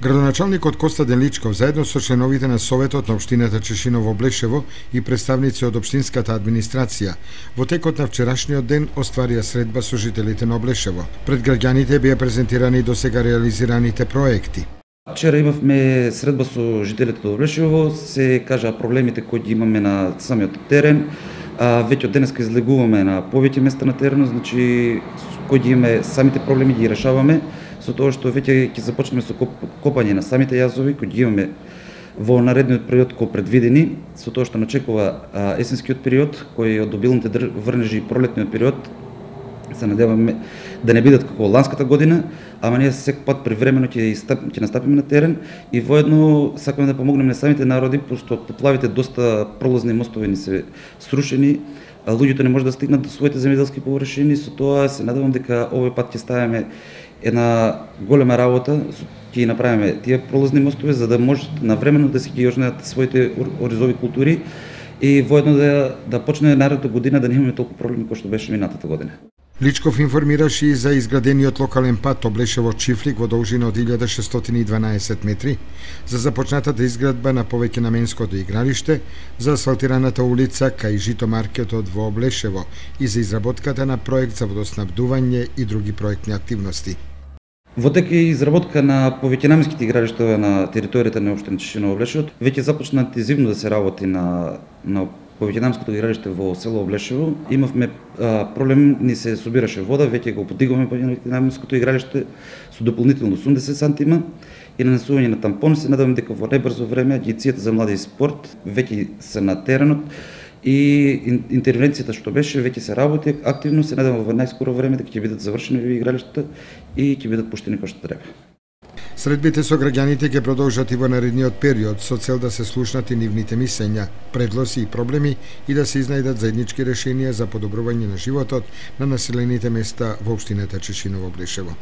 Градоначалникот Костадин Личков заедно со членовите на Советот на општината Чешиново-Облешево и представници од општинската администрација во текот на вчерашниот ден остварија средба со жителите на Облешево. Пред граѓаните беа презентирани досега реализираните проекти. Вчера имавме средба со жителите од Облешево, се кажа проблемите кои ги имаме на самиот терен. Веќе од денеска излегуваме на повеќе места на теренот, значи кои ги имаме самите проблеми ги решаваме, со тоа што веќе ќе започнеме со копање на самите јазови кои ги имаме во наредниот период кои предвидени, со тоа што начекува есенскиот период кој од обилните врнежи и пролетниот период. Се надеваме да не бидат како ланската година, ама ние секој пат привремено ќе настапиме на терен и воедно сакаме да помогнеме на самите народи, пошто од поплавите доста пролазни мостови ни се срушени, луѓето не може да стигнат до своите земјоделски површини, со тоа се надевам дека овој пат ќе ставиме една голема работа, ќе ги направиме тие пролазни мостови за да можат навремено да си ги јожнеат своите оризови култури и воедно да почне наредната година да не имаме толку проблеми кои што беше минатата година. Личков информираше и за изградениот локален пат Облешево-Чифлик во должина од 1612 метри, за започнатата изградба на повеќе наменското игралиште, за асфалтираната улица кај житомаркетот во Облешево и за изработката на проект за водоснабдување и други проектни активности. Во тек е изработка на повеќенаменските игралишта на територијата на општина Чешиново-Облешево. Веќе започна интензивно да се работи на повеќенамското игралиште во село Облешево. Имавме проблем, ни се собираше вода, веќе го подигуваме повеќенамското игралиште со дополнително 80 сантима и нанесување на тампони. Се надевам дека во најбрзо време Агенцијата за млади и спорт веќе се на теренот и интервенцијата што беше веќе се работи активно. Се надевам во најскоро време дека ќе бидат завршени игралиштата и ќе бидат пуштени како што треба. Средбите со граѓаните ќе продолжат и во наредниот период со цел да се слушнат и нивните мислења, предлози и проблеми и да се изнајдат заеднички решенија за подобрување на животот на населените места во општината Чешиново-Облешево.